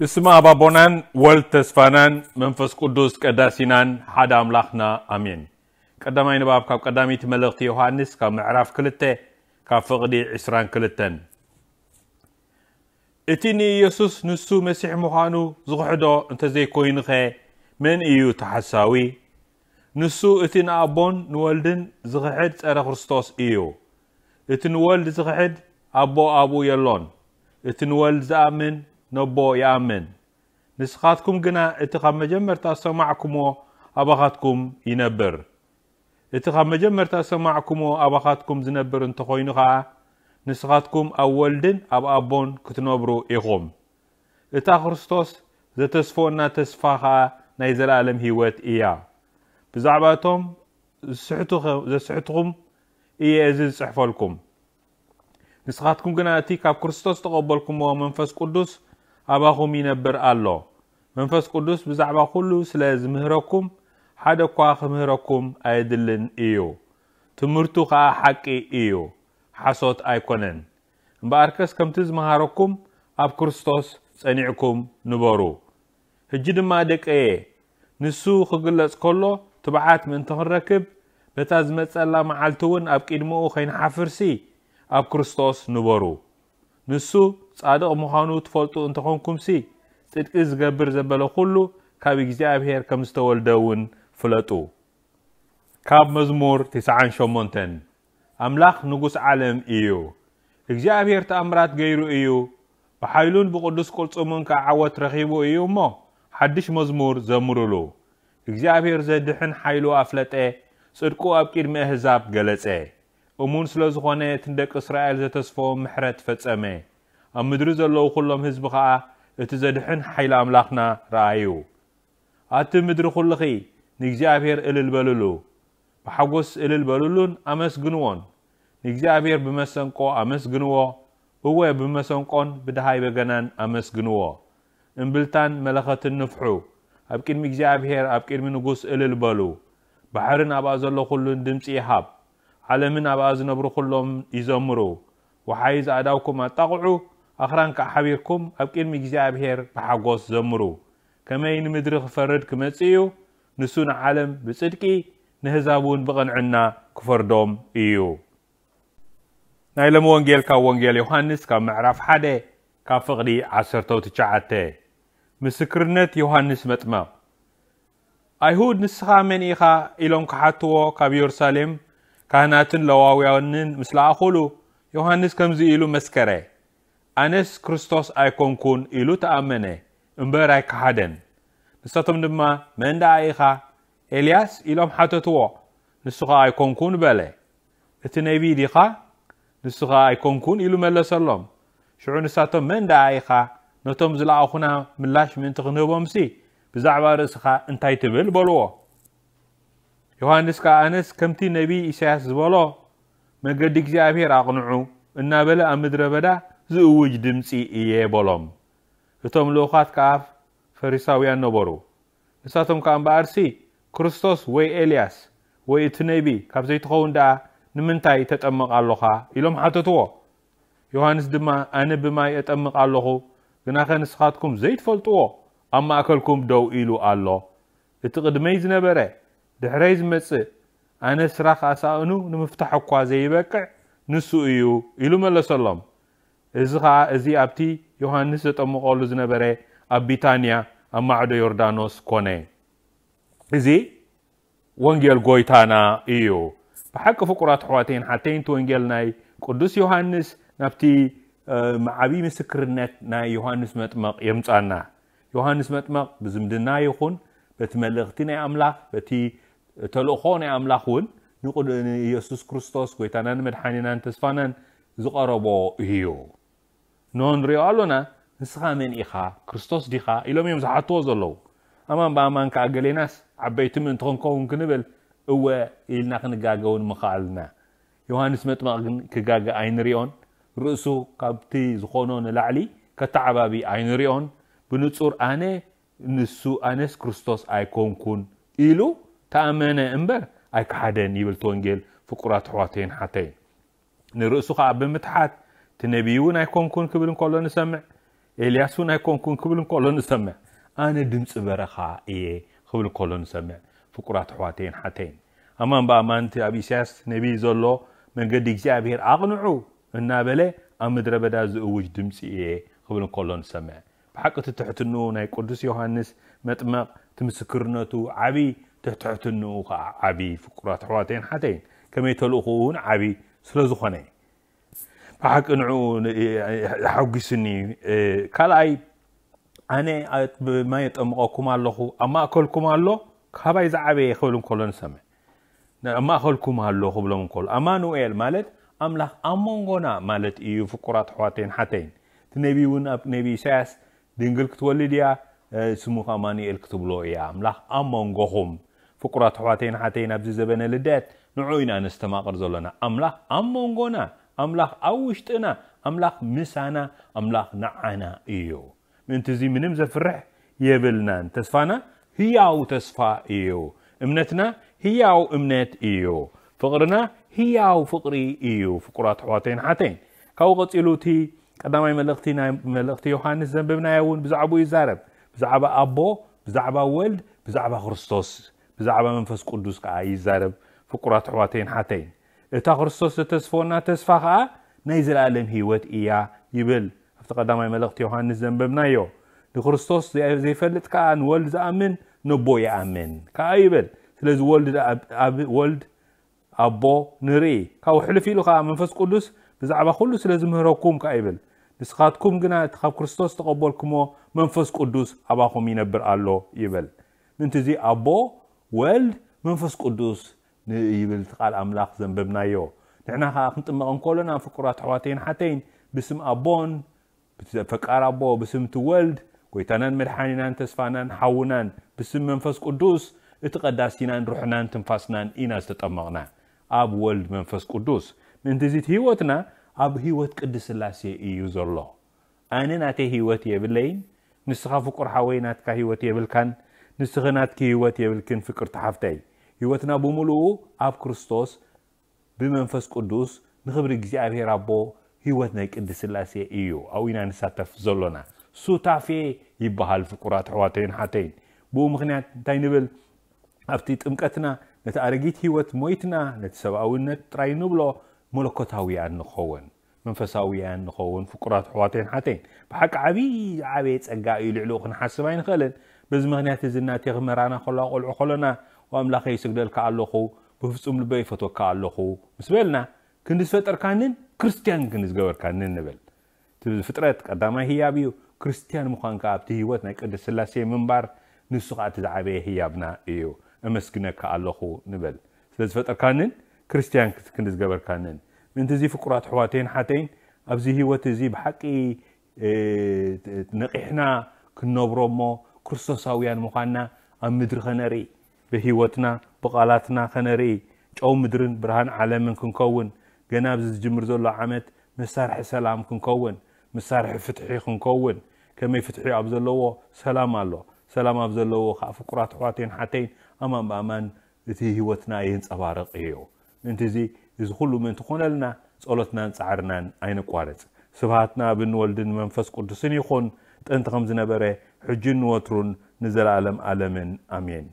ብስመ ኣብ ኣቦናን ወልድ ተስፋናን መንፈስ ቅዱስ ቀዳሲናን ሓደ ኣምላኽና ኣሜን። ቀዳማይ ንባብ ካብ ቀዳመይቲ መልእኽቲ ዮሃንስ ካብ ምዕራፍ ክልተ ካብ ፍቕዲ ዕስራን ክልተን። እቲ ንኢየሱስ ንሱ መሲሕ ምዃኑ ዝኽሕዶ እንተዘይኮይኑኸ መን እዩ ተሓሳዊ? ንሱ እቲ ንኣቦን ንወልድን ዝኽሕድ ጸረ ክርስቶስ እዩ። እቲ ንወልድ ዝኽሕድ ኣቦ ኣብኡ የሎን። እቲ ንወልድ ዝኣምን ነቦ ይኣምን። ንስኻትኩም ግና እቲ ካብ መጀመርታ ዝሰማዕኩምዎ ኣባኻትኩም ይነብር። እቲ ካብ መጀመርታ ዝሰማዕኩምዎ ኣባኻትኩም ዝነብር እንተኾይኑ ኸኣ ንስኻትኩም ኣብ ወልድን ኣብ ኣቦን ክትነብሩ ኢኹም። እታ ክርስቶስ ዘተስፈወና ተስፋ ኸኣ ናይ ዘለኣለም ህይወት እያ። ብዛዕባ እቶም ዝስሕቱ-፣ ዘስሕትኹም እየ እዚ ዝጽሕፈልኩም። ንስኻትኩም ግና እቲ ካብ ክርስቶስ ዝተቐበልኩምዎ መንፈስ ቅዱስ ኣባኹም ይነብር ኣሎ። መንፈስ ቅዱስ ብዛዕባ ኩሉ ስለ ዝምህረኩም ሓደ እኳ ክምህረኩም ኣየድልን እዩ። ትምህርቱ ኸኣ ሓቂ እዩ፣ ሓሶት ኣይኮነን። እምበኣርከስ ከምቲ ዝመሃረኩም ኣብ ክርስቶስ ጸኒዕኩም ንበሩ። ሕጂ ድማ ደቀየ፣ ንሱ ክግለጽ ከሎ ትብዓት ምእንቲ ክንረክብ፣ በታ ዝመጸላ መዓልቲ እውን ኣብ ቅድሚኡ ከይንሓፍርሲ ኣብ ክርስቶስ ንበሩ። ንሱ ጻድቕ ምዃኑ ትፈልጡ እንተኾንኩምሲ፣ ጽድቂ ዝገብር ዘበለ ኩሉ ካብ እግዚኣብሔር ከም ዝተወልደ እውን ፍለጡ። ካብ መዝሙር ትስዓን ሸሞንተን። ኣምላኽ ንጉስ ዓለም እዩ። እግዚኣብሔር ተኣምራት ገይሩ እዩ። ብሓይሉን ብቕዱስ ቅልጽሙን ከኣ ዓወት ረኺቡ እዩ እሞ፣ ሓድሽ መዝሙር ዘምሩሉ። እግዚኣብሔር ዘድሕን ሓይሉ ኣፍለጠ፣ ጽድቁ ኣብ ቅድሚ ኣህዛብ ገለጸ። እሙን ስለ ዝኾነ፣ እቲ ንደቂ እስራኤል ዘተስፈዎም ምሕረት ፈጸመ። ኣብ ምድሪ ዘለዉ ኩሎም ህዝቢ ኸኣ እቲ ዘድሕን ሓይሊ ኣምላኽና ረኣዩ። ኣቲ ምድሪ ኩልኺ ንእግዚኣብሔር እልል በልሉ፣ ብሓጎስ እልል በልሉን ኣመስግንዎን። ንእግዚኣብሔር ብመሰንቆ ኣመስግንዎ፣ እወ፣ ብመሰንቆን ብደሃይ በገናን ኣመስግንዎ። እምብልታን መለኸትን ንፍሑ፣ ኣብ ቅድሚ እግዚኣብሔር፣ ኣብ ቅድሚ ንጉስ እልል በሉ። ባሕርን ኣብኣ ዘሎ ኩሉን ድምጺ ይሃብ፣ ዓለምን ኣብኣ ዝነብሩ ኩሎም ይዘምሩ። ወሓይዝ ኣእዳውኩም ኣጣቕዑ፣ ኣኽራን ከኣ ሓቢርኩም ኣብ ቅድሚ እግዚኣብሔር ብሓጎስ ዘምሩ። ከመይ ንምድሪ ክፈርድ ክመጽእ እዩ፣ ንሱ ንዓለም ብጽድቂ፣ ንህዛብ እውን ብቕንዕና ክፈርዶም እዩ። ናይ ሎሚ ወንጌል ካብ ወንጌል ዮሃንስ ካብ ምዕራፍ ሓደ ካብ ፍቕዲ ዓሰርተው ትሽዓተ። ምስክርነት ዮሃንስ መጥመቕ። ኣይሁድ፣ "ንስኻ መን ኢኻ?" ኢሎም ክሓትዎ ካብ የሩሳሌም ካህናትን ለዋውያንን ምስ ለኣኹሉ፣ ዮሃንስ ከምዚ ኢሉ መስከረ፣ "ኣነስ ክርስቶስ ኣይኮንኩን" ኢሉ ተኣመነ፣ እምበር ኣይከሓደን። ንሳቶም ድማ፣ "መን ደኣ ኢኻ? ኤልያስ?" ኢሎም ሓተትዎ። ንሱ ኸኣ፣ "ኣይኮንኩን" በለ። "እቲ ነቢይ ዲኻ?" ንሱ ኸኣ፣ "ኣይኮንኩን" ኢሉ መለሰሎም። ሽዑ ንሳቶም፣ "መን ደኣ ኢኻ? ነቶም ዝለኣኹና ምላሽ ምእንቲ ክንህቦምሲ፣ ብዛዕባ ርእስኻ እንታይ ትብል?" በልዎ። ዮሃንስ ከኣ፣ "ኣነስ ከምቲ ነቢይ ኢሳያስ ዝበሎ፣ 'መገዲ እግዚኣብሔር ኣቕንዑ' እናበለ ኣብ ምድረ በዳ ዝእውጅ ድምጺ እየ" በሎም። እቶም ልኡኻት ከኣ ፈሪሳውያን ነበሩ። ንሳቶም ከኣ እምበኣርሲ፣ "ክርስቶስ ወይ ኤልያስ ወይ እቲ ነቢ ካብ ዘይትኸውን ደኣ ንምንታይ ተጠምቕ ኣሎኻ?" ኢሎም ሓተትዎ። ዮሃንስ ድማ፣ "ኣነ ብማይ እጠምቕ ኣለኹ፣ ግናኸ ንስኻትኩም ዘይትፈልጥዎ ኣብ ማእከልኩም ደው ኢሉ ኣሎ። እቲ ቅድመይ ዝነበረ ድሕረይ ዝመጽእ፣ ኣነ ስራኽ ኣሳእኑ ንምፍታሕ እኳ ዘይበቅዕ ንሱ እዩ" ኢሉ መለሰሎም። እዚ ኸኣ፣ እዚ ኣብቲ ዮሃንስ ዘጠምቐሉ ዝነበረ ኣብ ቢታንያ ኣብ ማዕዶ ዮርዳኖስ ኮነ። እዚ ወንጌል ጐይታና እዩ። ብሓቂ ፍቁራት ኣሕዋተይን ሓተይን፣ እቲ ወንጌል ናይ ቅዱስ ዮሃንስ ናብቲ፣ እ፣ ዓብዪ ምስክርነት ናይ ዮሃንስ መጥመቕ የምጻና። ዮሃንስ መጥመቕ ብዝምድና ይኹን በቲ መልእኽቲ ናይ ኣምላኽ፣ በቲ ተልእኾ ናይ ኣምላኽ እውን ንቕዱ-፣ ንኢየሱስ ክርስቶስ ጐይታናን መድሓኒናን ተስፋናን ዝቐረቦ እዩ። ንሆ ንሪኦ ኣሎና፣ "ንስኻ መን ኢኻ? ክርስቶስ ዲኻ?" ኢሎም እዮም ዝሓትዎ ዘለዉ። ኣማን ብኣማን ከኣ ገሌናስ ዓበይቲ ምእንቲ ክንከውን ክንብል፣ እወ ኢልና ክንጋገ እውን ምኸኣልና። ዮሃንስ መጥመቕ ግን ክጋገ ኣይንሪኦን። ርእሱ ካብቲ ዝኾኖ ንላዕሊ ከተዓባቢ ኣይንሪኦን። ብንጹር፣ "ኣነ ንሱ፣ ኣነስ ክርስቶስ ኣይኮንኩን" ኢሉ ተኣመነ እምበር ኣይከሓደን ይብል እቲ ወንጌል፣ ፍቁራት ኣሕዋተይን ሓተይን። ንርእሱ ኸኣ ብምትሓት፣ "እቲ ነቢይ እውን ኣይኮንኩን" ክብል እንከሎ ንሰምዕ። ኤልያስ እውን ኣይኮንኩን ክብል እንከሎ ንሰምዕ። ኣነ ድምፂ በረኻ እየ ክብል እንከሎ ንሰምዕ። ፍቁራት ኣሕዋተይን ሓተይን፣ ኣማን ብኣማን እቲ ኣብ ኢሳያስ ነቢይ ዘሎ መንገዲ እግዚኣብሔር ኣቕንዑ እናበለ ኣብ ምድረ በዳ ዝእውጅ ድምፂ እየ ክብል እንከሎ ንሰምዕ። ብሓቂ እቲ ትሕትንኡ ናይ ቅዱስ ዮሃንስ መጥመቕ እቲ ምስክርነቱ ዓቢ፣ እቲ ትሕትንኡ ከዓ ዓቢ። ፍቁራት ኣሕዋተይን ሓተይን፣ ከመይ ተልእኹ እውን ዓቢ ስለ ዝኾነ ብሓቂ ንዕኡ የሓጒስኒ። ካልኣይ፣ ኣነ ብማይ የጠምቐኩም ኣለኹ፣ ኣብ ማእከልኩም ኣሎ፣ ካባይ ዝዓበየ ክብል እንከሎ ንሰምዕ። ኣብ ማእከልኩም ኣሎ ክብሎም እንከሎ፣ ኣማኑኤል ማለት ኣምላኽ ኣብ መንጎና ማለት እዩ። ፍቁራት ኣሕዋተይን ሓተይን፣ እቲ ነቢ እውን ኣብ ነቢ ኢሳያስ ድንግል ክትወልድ እያ፣ ስሙ ከኣ ኣማኑኤል ክትብሎ እያ፣ ኣምላኽ ኣብ መንጎኹም። ፍቁራት ኣሕዋተይን ሓተይን፣ ኣብዚ ዘበነ ልደት ንዑ ኢና ነስተማቕር ዘሎና። ኣምላኽ ኣብ መንጎና፣ ኣምላኽ ኣብ ውሽጥና፣ ኣምላኽ ምሳና፣ ኣምላኽ ንዓና እዩ። ምእንቲ እዚ ምንም ዘፍርሕ የብልናን። ተስፋና ህያው ተስፋ እዩ። እምነትና ህያው እምነት እዩ። ፍቕርና ህያው ፍቕሪ እዩ። ፍቁራት ኣሕዋተይን ሓተይን፣ ካብኡ ቀጺሉ እቲ ቀዳማይ መልእኽቲ፣ ናይ መልእኽቲ ዮሃንስ ዘንበብናዮ እውን ብዛዕባኡ ይዛረብ። ብዛዕባ ኣቦ፣ ብዛዕባ ወልድ፣ ብዛዕባ ክርስቶስ፣ ብዛዕባ መንፈስ ቅዱስ ከኣ ይዛረብ። ፍቁራት ኣሕዋተይን ሓተይን፣ እታ ክርስቶስ ዘተስፈወና ተስፋ ከኣ ናይ ዘለኣለም ህይወት እያ ይብል። ኣብቲ ቀዳማይ መልእኽቲ ዮሃንስ ዘንበብናዮ። ንክርስቶስ ዘይ-፣ ዘይፈልጥ ከኣ ንወልድ ዝኣምን ነቦ ይኣምን ከኣ ይብል። ስለዚ ወልድ ኣብ፣ ኣብ ወልድ ኣቦ ንርኢ። ካብኡ ሕልፍ ኢሉ ከኣ መንፈስ ቅዱስ ብዛዕባ ኩሉ ስለ ዝምህረኩም ከኣ ይብል። ንስኻትኩም ግና እቲ ካብ ክርስቶስ ዝተቐበልኩሞ መንፈስ ቅዱስ ኣባኹም ይነብር ኣሎ ይብል። ምእንቲ እዚ ኣቦ፣ ወልድ፣ መንፈስ ቅዱስ ን-፣ ይብል እቲ ቃል ኣምላኽ ዘንበብናዮ። ንሕና ከኣ ክንጥመቕ እንከሎና ፍቁራት ኣሕዋተይን ሓተይን፣ ብስም ኣቦን፣ ብቲ ፈቃር ኣቦ፣ ብስም እቲ ወልድ፣ ጎይታናን መድሓኒናን ተስፋናን ሓውናን፣ ብስም መንፈስ ቅዱስ፣ እቲ ቀዳሲናን ሩሕናን ትንፋስናን ኢና ዝተጠመቕና። ኣብ ወልድ መንፈስ ቅዱስ። ምእንቲ እዚ እቲ ህይወትና ኣብ ህይወት ቅድስት ስላሴ እዩ ዘሎ። ኣነ ናተይ ህይወት የብለይን፣ ንስኻ ፍቁር ሓወይ ናትካ ህይወት የብልካን፣ ንስኺ ናትኪ ህይወት የብልክን ፍቅርቲ ሓፍተይ። ህይወትና ብምሉኡ ኣብ ክርስቶስ ብመንፈስ ቅዱስ ንኽብሪ እግዚኣብሔር ኣቦ ህይወት ናይ ቅድስት ስላሴ እዩ። ኣብኡ ኢና ንሳተፍ ዘሎና። ሱታፌ ይበሃል ፍቁራት ኣሕዋተይን ሓተይን። ብኡ ምኽንያት እንታይ ንብል? ኣብቲ ጥምቀትና ነቲ ኣረጊት ህይወት ሞይትና ነቲ ሰብኣውነት ጥራይ ንብሎ መለኮታውያን ንኸውን። መንፈሳውያን ንኸውን ፍቁራት ኣሕዋተይን ሓተይን። ብሓቂ ዓብዪ ዝዓበየ ጸጋ እዩ፣ ልዕሊኡ ክንሓስብ ኣይንኽእልን። በዚ ምኽንያት እዚ እናቴኽ መራና ከለዋ ቆልዑ ከሎና፣ "ኦ ኣምላኸይ ይስግደልካ ኣለኹ፣ ብፍጹም ልበይ ይፈትወካ ኣለኹ" ምስ በልና፣ ክንዲ ዝፈጠርካንን ክርስትያን ክንዲ ዝገበርካንን ንብል። እቲ ፍጥረት ቀዳማይ ህያብ እዩ። ክርስትያን ምዃን ከኣ ኣብቲ ህይወት ናይ ቅድስት ስላሴ ምንባር፣ ንሱ ከኣ እቲ ዝዓበየ ህያብና እዩ። "እመስግነካ ኣለኹ" ንበል። ስለ ዝፈጠርካንን ክርስትያን ክት-፣ ክንዲ ዝገበርካንን። ምእንቲ እዚ ፍቁራት ኣሕዋተይን ሓተይን፣ ኣብዚ ህይወት እዚ ብሓቂ፣ እ፣ ነቒሕና ክንነብሮ እሞ ክርስቶሳውያን ምዃንና ኣብ ምድሪ ከነርኢ፣ ብህይወትና፣ ብቓላትና ከነርኢ፣ ጨው ምድርን ብርሃን ዓለምን ክንከውን፣ ገና ኣብዚ ዝጅምር ዘሎ ዓመት መሳርሒ ሰላም ክንከውን፣ መሳርሒ ፍትሒ ክንከውን። ከመይ ፍትሒ ኣብ ዘለዎ ሰላም ኣሎ፣ ሰላም ኣብ ዘለዎ ከኣ ፍቁራት ኣሕዋተይን ሓተይን፣ ኣማን ብኣማን እቲ ህይወትና የንጸባርቕ እዩ። ምእንቲ እዚ፣ እዚ ኩሉ ምእንቲ ኮነልና ጸሎትናን ጻዕርናን ኣይነቋርጽ። ስብሃት ንኣብን ወልድን መንፈስ ቅዱስን ይኹን፣ ጥንቲ ከም ዝነበረ፣ ሕጂን ንወትሩን ንዘለኣለም ኣለምን። ኣሜን።